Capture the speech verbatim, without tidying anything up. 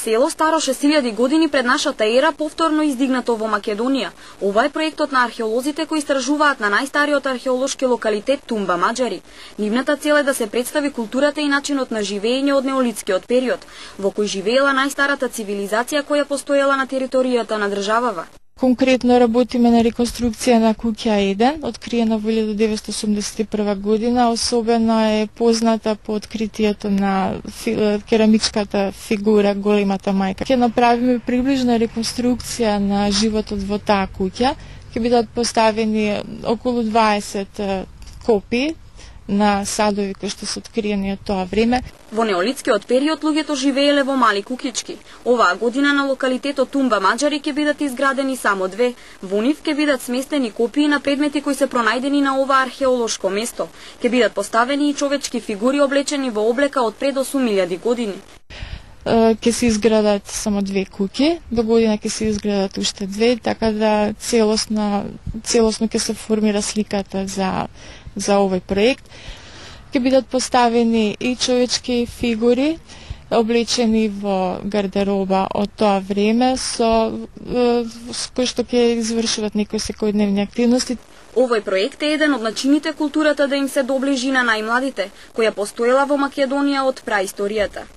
Село старо шест илјади години пред нашата ера повторно издигнато во Македонија. Ова е проектот на археолозите кои истражуваат на најстариот археолошки локалитет Тумба Маџари. Нивната цел е да се представи културата и начинот на живење од неолитскиот период, во кој живеела најстарата цивилизација која постоела на територијата на државава. Конкретно работиме на реконструкција на куќа еден, откриена во илјада деветстотини осумдесет и прва година. Особено е позната по откритието на керамичката фигура Големата мајка. Ќе направиме приближна реконструкција на животот во таа куќа. Ќе бидат поставени околу дваесет копии на садови кои што се откриени од тоа време. Во неолитскиот период луѓето живееле во мали куќички. Оваа година на локалитетот Тумба Маџари ќе бидат изградени само две. Во нив ќе бидат сместени копии на предмети кои се пронајдени на ова археолошко место. Ќе бидат поставени и човечки фигури облечени во облека од пред осум илјади години. Ќе се изградат само две куќи, до година ќе се изградат уште две, така да целосно целосно ќе се формира сликата за за овој проект. Ќе бидат поставени и човечки фигури облечени во гардероба од тоа време со, со кои што ќе извршуват некои секојдневни активности. Овој проект е еден од начините културата да им се доближи на најмладите, која постоела во Македонија од праисторијата.